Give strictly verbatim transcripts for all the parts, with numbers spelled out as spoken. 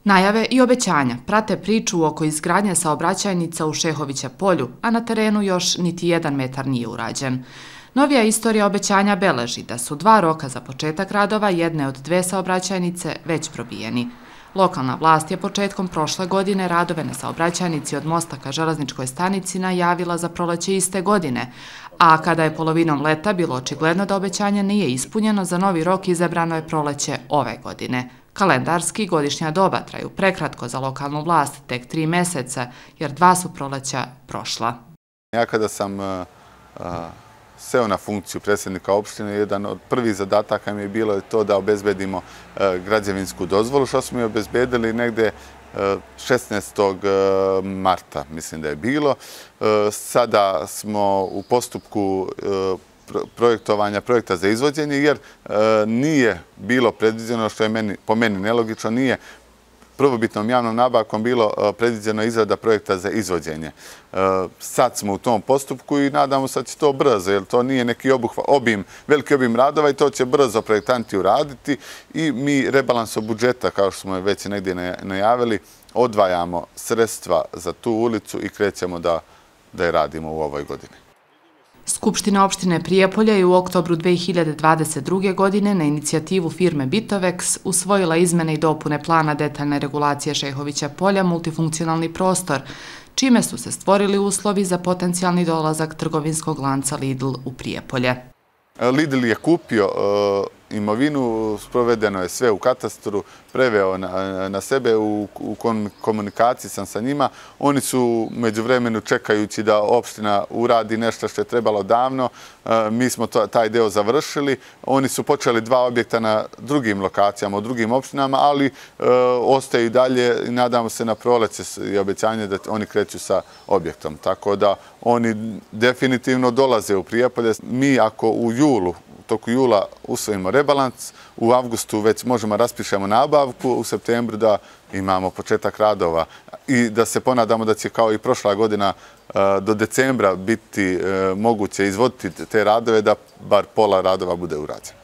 Najave i obećanja prate priču oko izgradnje saobraćajnica u Šehovića polju, a na terenu još niti jedan metar nije urađen. Novija istorija obećanja beleži da su dva roka za početak radova jedne od dve saobraćajnice već probijeni. Lokalna vlast je početkom prošle godine radove na saobraćajnici od mosta ka železničkoj stanici najavila za proleće iste godine, a kada je polovinom leta bilo očigledno da obećanje nije ispunjeno, za novi rok izabrano je proleće ove godine. Kalendarski godišnja doba traju prekratko za lokalnu vlast, tek tri meseca, jer dva su proleća prošla. Ja kada sam uh, uh, seo na funkciju predsjednika opštine, jedan od prvih zadataka mi je bilo to da obezbedimo uh, građevinsku dozvolu, što smo i obezbedili negde uh, šesnaestog marta, mislim da je bilo. Uh, sada smo u postupku uh, projektovanja projekta za izvođenje, jer e, nije bilo predviđeno, što je meni, po meni nelogično, nije prvobitnom javnom nabavkom bilo e, predviđeno izrada projekta za izvođenje. E, sad smo u tom postupku i nadamo se da će to brzo, jer to nije neki obuhva, obim, veliki obim radova i to će brzo projektanti uraditi i mi rebalansom budžeta, kao što smo već negdje najavili, odvajamo sredstva za tu ulicu i krećemo da, da je radimo u ovoj godini. Skupština opštine Prijepolje je u oktobru dve hiljade dvadeset druge. godine na inicijativu firme Bitovex usvojila izmene i dopune plana detaljne regulacije Šehovića polja multifunkcionalni prostor, čime su se stvorili uslovi za potencijalni dolazak trgovinskog lanca Lidl u Prijepolje. Lidl je kupio imovinu, sprovedeno je sve u katastru, preveo na, na sebe, u, u komunikaciji sam sa njima. Oni su međuvremenu čekajući da opština uradi nešto što je trebalo davno. Mi smo to, taj deo završili. Oni su počeli dva objekta na drugim lokacijama, u drugim opštinama, ali e, ostaju i dalje i nadamo se na proleće i obećanje da oni kreću sa objektom. Tako da oni definitivno dolaze u Prijepolje. Mi ako u julu, u toku jula usvojimo rebalans, u avgustu već možemo raspišemo nabavku, u septembru da imamo početak radova i da se ponadamo da će kao i prošla godina do decembra biti moguće izvoditi te radove, da bar pola radova bude urađeno.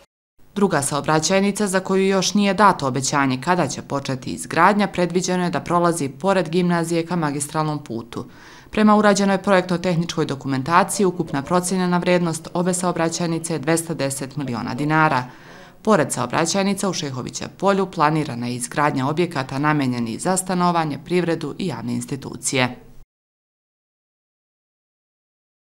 Druga saobraćajnica za koju još nije dato obećanje kada će početi izgradnja, predviđeno je da prolazi pored gimnazije ka magistralnom putu. Prema urađenoj projektno-tehničkoj dokumentaciji, ukupna procijenjena vrednost obe saobraćajnice je dvesta deset miliona dinara. Pored saobraćajnica u Šehovića polju planirana je izgradnja objekata namenjenih za stanovanje, privredu i javne institucije.